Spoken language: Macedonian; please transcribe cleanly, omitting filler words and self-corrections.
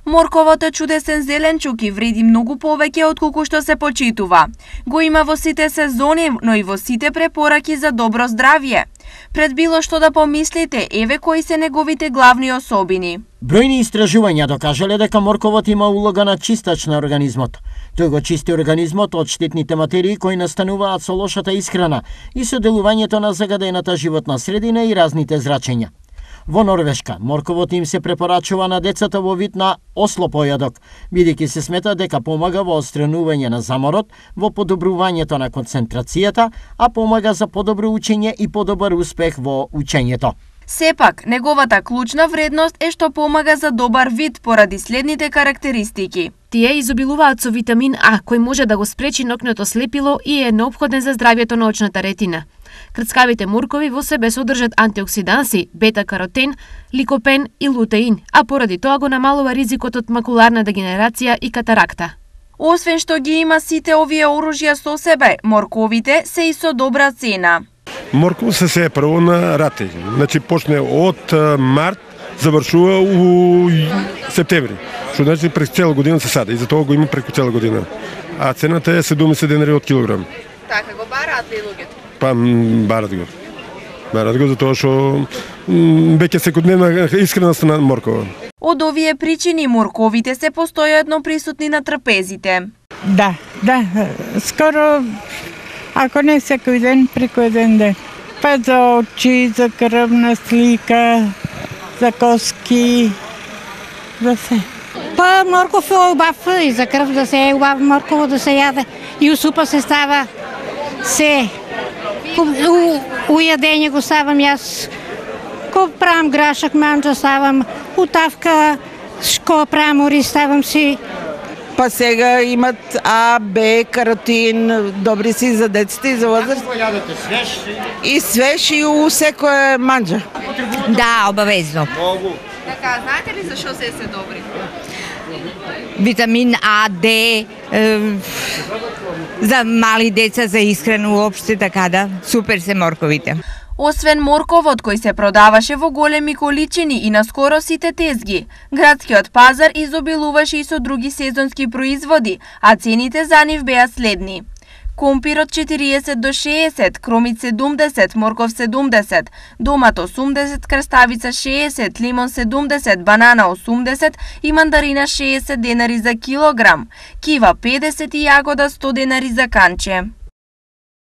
Морковот е чудесен зеленчук и вреди многу повеќе отколку што се почитува. Го има во сите сезони, но и во сите препораки за добро здравје. Пред било што да помислите, еве кои се неговите главни особини. Бројни истражувања докажале дека морковот има улога на чистач на организмот. Тој го чисти организмот од штетните материи кои настануваат со лошата исхрана и со делувањето на загадената животна средина и разните зрачења. Во Норвешка, морковот им се препорачува на децата во вид на ослопојадок, бидејќи се смета дека помага во отстранување на заморот, во подобрувањето на концентрацијата, а помага за подобро учење и подобар успех во учењето. Сепак, неговата клучна вредност е што помага за добар вид поради следните карактеристики. Тие изобилуваат со витамин А, кој може да го спречи ноќното слепило и е неопходен за здравјето на очната ретина. Крцкавите моркови во себе содржат антиоксиданси, бета-каротен, ликопен и лутеин, а поради тоа го намалува ризикот од макуларна дегенерација и катаракта. Освен што ги има сите овие оружја со себе, морковите се и со добра цена. Морков се сее прво на рате. Значи почне од март, завршува у септември. Што значи през цела година се сади и затоа го има преку цела година. А цената е 70 денари од килограм. Така го бараат ли луѓето? Па барат го. Барат го затоа што веќе секојдневна искреност на моркова. Од овие причини морковите се постојано присутни на трпезите. Да, скоро, ако не секој ден, преку еден ден. Па за очи, за крвна слика, за коски, за се. Па морков е убав и за крв да се е убав морково да се јаде. И у супа се става се. У јадење го ставам јас. Ко правам грашак, манџа ставам, утавка, шко правам ориз ставам си. Па сега имат А, Б, каротин, добри си за деците и за возраст. Како го јадете, свеж? И свеж и у секоја манџа. Да, обавезно. Така, знаете ли зашо се добри? Витамин А, Д, за мали деца, за исхрана уопште, така да, супер се морковите. Освен морковот кој се продаваше во големи количини и на скоро сите тезги, градскиот пазар изобилуваше и со други сезонски производи, а цените за нив беа следни. Компирот 40 до 60, кромит 70, морков 70, домат 80, краставица 60, лимон 70, банана 80 и мандарина 60 денари за килограм, кива 50 и јагода 100 денари за канче.